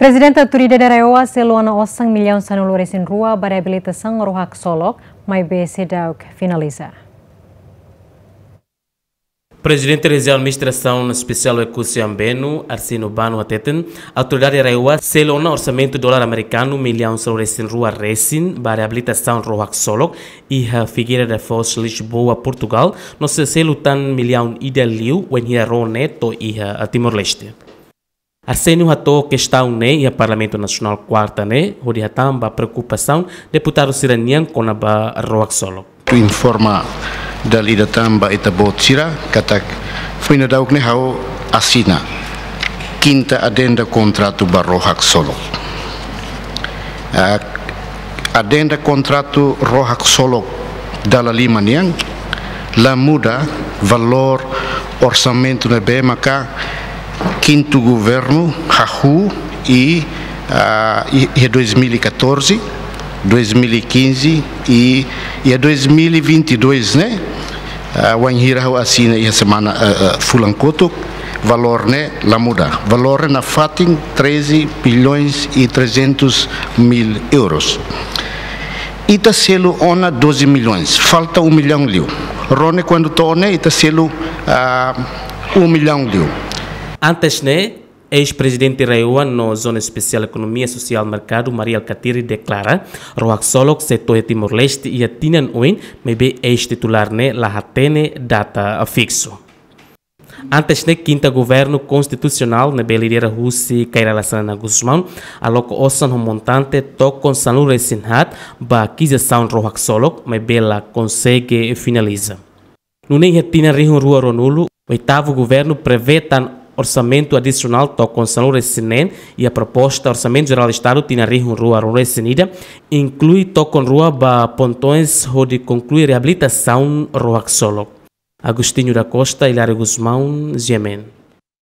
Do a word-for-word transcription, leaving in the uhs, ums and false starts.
Prezidente Autoridade RAEOA selu ona osan millaun sanulu-resin-rua ba reabilitasaun Rua Haksolok, maibé seidauk finaliza. Prezidente Rejiaun Administrasaun Espesiál Oekusi Ambenu, Arsénio Bano hateten, Autoridade RAEOA selu ona orsamentu dolar amerikanu millaun sanulu-resin-rua resin ba reabilitasaun Rua Haksolok iha Figueira da Foz, Lisboa, Portugal, no sei selu tan millaun ida liu wainhira ró ne'e to'o iha Timor-Leste. Arsénio hato'o kestaun ne'e iha Parlamentu Nasionál kuarta ne'e, hodi hatán ba preokupasaun deputadu sira-nian kona-ba Rua Haksolok. Atu informa dala ida tan ba ita-boot sira katak foin daudauk ne'e ha'u asina kinta adenda kontratu ba Rua Haksolok. Ah, adenda kontratu Rua Haksolok dala lima nian la muda valór orsamentu ne'ebé maka kintu governu hahú iha, ah, i-, iha dois mil e catorze, dois mil e quinze i iha dois mil e vinte e dois ne'e, ah, wainhira ha'u asina iha semana, ah, ah, fulan kotuk, valór ne'e la muda. Valór ne'e nafatin treze bilhões e trezentos mil euros. Ita selu ona doze milhões, falta um milhão liu. Ró ne'e kuandu to'o ne'e ita selu, ah, um milhão liu. Antes ne'e, eis-prezidente RAEOA no Zona Espesiál Ekonomia Sosiál Merkadu, Mari Alkatiri, deklara, Rua Haksolok sei to'o iha Timor-Leste iha tinan oin, maibé eis-titulár ne'e la hatene data fiksu. Antes ne'e, kinta Governu Konstitusionál ne'ebé lidera husi Kay Rala Xanana Gusmão aloka osan ho montante tokon sanulu-resin-haat ba kizasaun Rua Haksolok, maibé la konsege finaliza. Nune'e iha tinan rihun rua ruanulu, oitavu governu prevee tan orsamentu adisionál tokon sanulu-resin-neen iha proposta Orsamentu Jerál Estadu tinan rihun rua ruanulu-resin-ida, inklui tokon rua ba pontoens hodi konklui reabilitasaun Rua Haksolok. Agostinho da Costa, Hilário Gusmão, G M N.